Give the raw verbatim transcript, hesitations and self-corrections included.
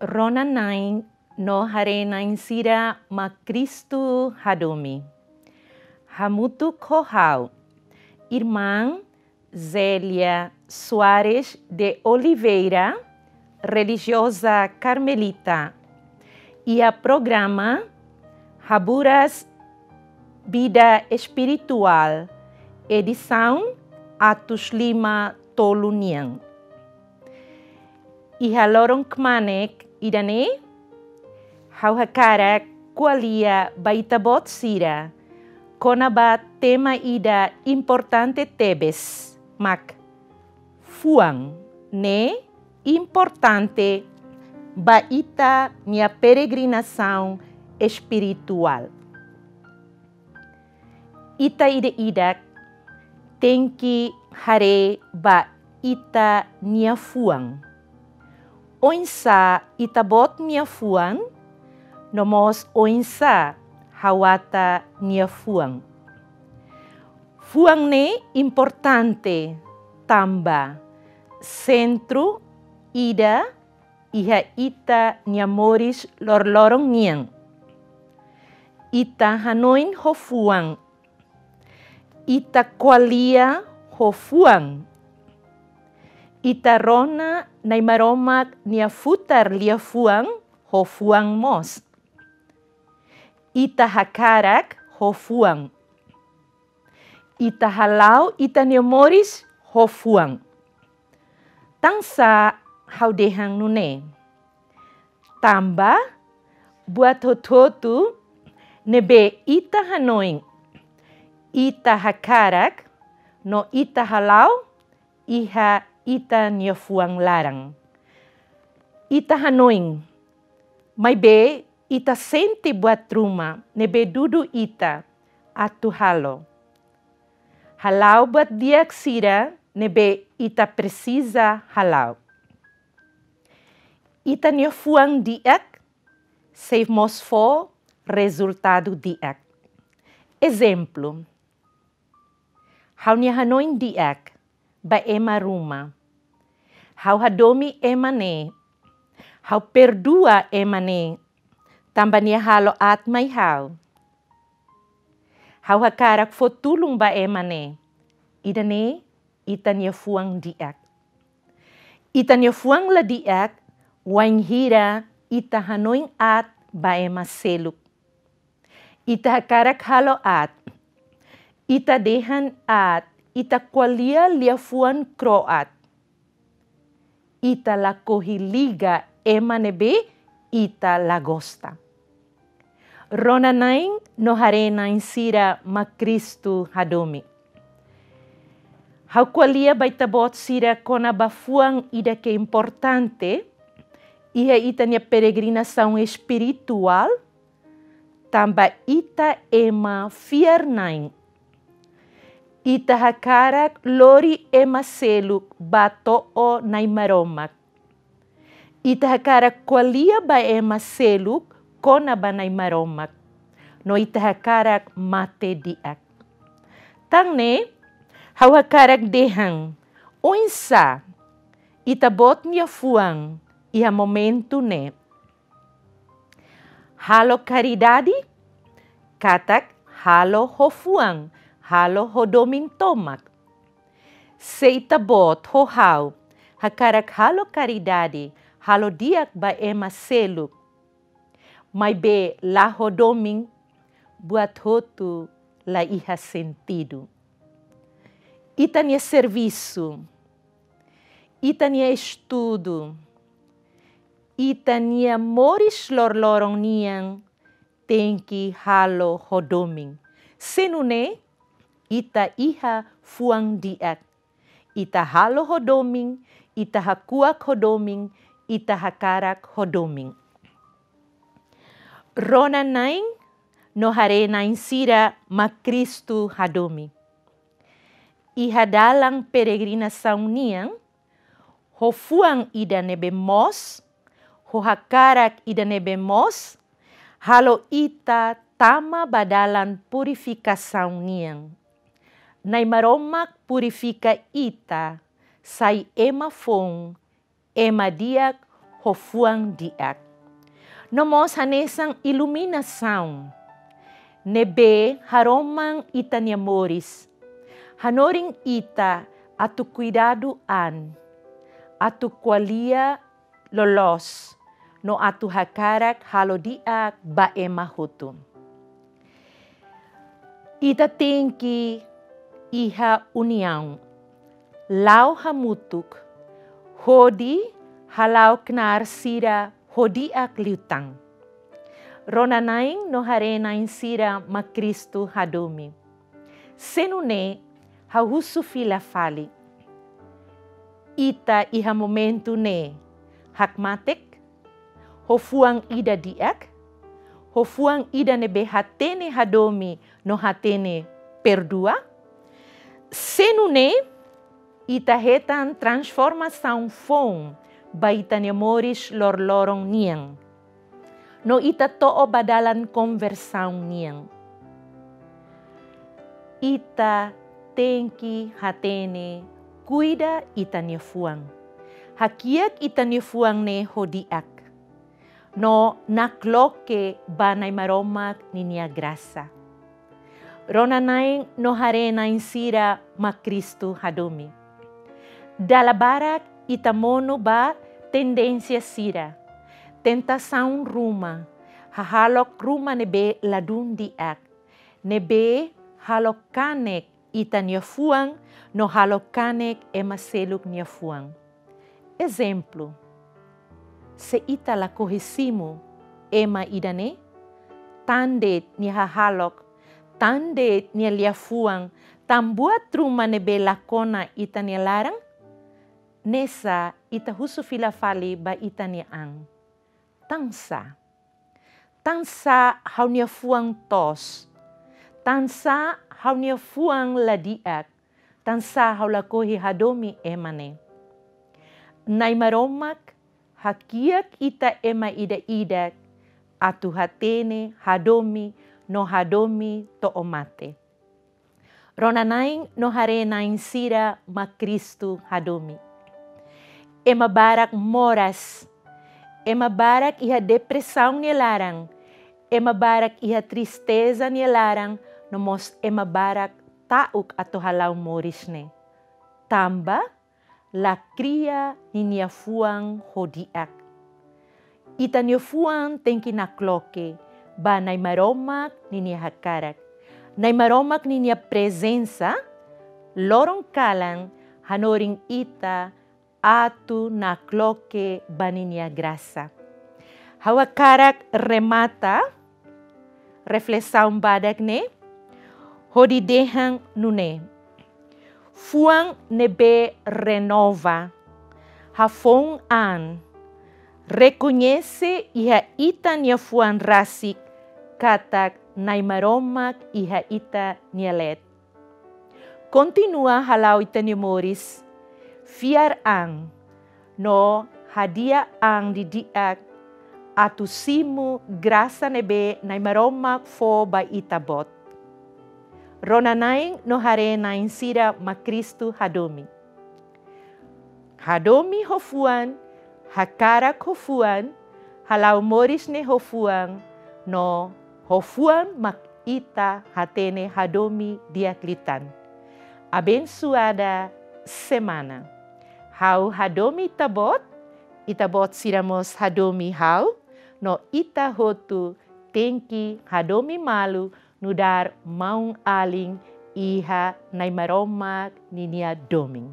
Rona-na'in no haree-na'in sira mak Kristu hadomi. Hamutuk ho ha'u, Irmã Zélia Soares de Oliveira, relijioza karmelita, iha programa Haburas Vida Espirituál, edisaun atus lima tolu nian. Iha loron kmanek ida-ne'e, ha'u hakarak ko'alia ba ita-boot sira kona-ba tema ida importante tebes, mak fuan ne'e importante ba ita-nia peregrinasaun espirituál. Ita ida-idak tenke haree ba ita-nia fuan. Oinsá ita-boot nia fuan, no mós oinsá ha'u-ata nia fuan. Fuan ne'e importante tanba sentru ida iha ita-nia moris loroloron nian. Ita hanoin ho fuan. Ita ko'alia ho fuan. Ita rona Nai Maromak nia futar liafuan ho fuan mós. Ita hakarak ho fuan. Ita hala'o ita-nia moris ho fuan. Tansá ha'u dehan nune'e? Tanba buat hotu-hotu ne'ebé ita hanoin, ita hakarak, no ita hala'o, iha ita-nia fuan laran. Ita hanoin, maibé ita sente buat ruma ne'ebé dudu ita atu halo. Hala'o buat di'ak sira ne'ebé ita presiza hala'o. Ita-nia fuan di'ak sei mós fó rezultadu di'ak. Ezemplu, ha'u-nia hanoin di'ak ba ema ruma. Ha'u hadomi ema ne'e. Ha'u perdua ema ne'e, tanba nia halo aat mai ha'u. Ha'u hakarak fó tulun ba ema ne'e. Ida-ne'e ita-nia fuan di'ak. Ita-nia fuan la di'ak wainhira ita hanoin aat ba ema seluk. Ita hakarak halo aat. Ita dehan aat, ita ko'alia liafuan kro'at. Ita lakohi liga ema ne'ebé ita la gosta. Rona-na'in no haree-na'in sira mak Kristu hadomi. Ha'u ko'alia ba ita-boot sira kona-ba fuan ida ke importante iha ita-nia peregrinasaun espirituál, tanba ita ema fiar-na'in. Ita hakarak lori ema seluk ba to'o Nai Maromak. Ita hakarak ko'alia ba ema seluk kona-ba Nai Maromak. No ita hakarak mate di'ak. Tan ne'e, ha'u hakarak dehan, oinsá ita-boot nia fuan iha momentu ne'e. Halo karidade, katak halo ho fuan, halo ho domin tomak. Se ita-boot ho ha'u hakarak halo karidade, halo di'ak ba ema seluk, maibé la ho domin, buat hotu la iha sentidu. Ita-nia servisu, ita-nia estudu, ita-nia moris loroloron nian tenke halo ho domin. Se nune'e, ita iha fuan di'ak. Ita halo ho domin, ita hakuak ho domin, ita hakarak ho domin. Rona-na'in no haree-na'in sira mak Kristu hadomi. Iha dalan peregrinasaun nian, ho fuan ida ne'ebé moos, ho hakarak ida ne'ebé moos, halo ita tama ba dalan purifikasaun nian. Nai Maromak purifika ita, sai ema foun, ema di'ak ho fuan di'ak. No mós hanesan iluminasaun ne'ebé haroman ita-nia moris, hanorin ita atu kuidadu an, atu ko'alia loloos, no atu hakarak halo di'ak ba ema hotu. Ita tenke iha uniaun, la'o hamutuk, hodi hala'o knaar sira ho di'ak liután. Rona-na'in no haree-na'in sira mak Kristu hadomi. Se nune'e ha'u husu fila fali. Ita iha momentu ne'e hakmatek, ho fuan ida di'ak, ho fuan ida ne'ebé hatene hadomi no hatene perdua? Se nune'e, ita hetan transformasaun foun ba ita-nia moris loroloron nian. No ita to'o ba dalan konversaun nian. Ita tenke hatene, kuida ita-nia fuan. Hakiak ita-nia fuan ne'e ho di'ak. No nakloke ba Nai Maromak ninia grasa. Rona-na'in no haree-na'in sira mak Kristu hadomi. Dala barak ita monu ba tendénsia sira, tentasaun ruma, hahalok ruma ne'ebé ladún di'ak, ne'ebé halo kanek ita-nia fuan, no halo kanek ema seluk nia fuan. Ezemplu, se ita lakohi simu ema ida-ne'e, tan de'it nia hahalok, tan de'it nia liafuan, tan buat ruma ne'ebé la kona ita-nia laran, nesa ita husu fila fali ba ita-nia an. Tansá? Tansá ha'u-nia fuan toos? Tansá ha'u-nia fuan la di'ak? Tansá ha'u lakohi hadomi ema ne'e? Nai Maromak hakiak ita ema ida-idak atu hatene hadomi no hadomi to'o mate. Rona-na'in no haree-na'in sira mak Kristu hadomi. Ema barak moras, ema barak iha depresaun nia laran, ema barak iha tristeza nia laran, no mós ema barak ta'uk atu hala'o moris ne'e. Tanba la kria ninia fuan ho di'ak. Ita-nia fuan tenke nakloke ba Nai Maromak ninia hakarak. Nai Maromak ninia prezensa loron kalan hanorin ita atu nakloke ba ninia grasa. Ha'u hakarak remata reflesaun badak ne'e hodi dehan nune'e: fuan ne'ebé renova, hafoun an, rekoñese iha ita-nia fuan rasik katak Nai Maromak iha ita-nia leet. Kontinua hala'o ita-nia moris fiar an no hadi'a an didi'ak atu simu grasa ne'ebé Nai Maromak fó ba ita-boot. Rona-na'in no haree-na'in sira mak Kristu hadomi. Hadomi ho fuan, hakarak ho fuan, hala'o moris ne'e ho fuan, no ho fuan mak ita hatene hadomi di'ak liután. Abensuada semana. Ha'u hadomi ita-boot, ita-boot sira mós hadomi ha'u, no ita hotu tenke hadomi malu nu'udar maun-alin iha Nai Maromak ninia domin.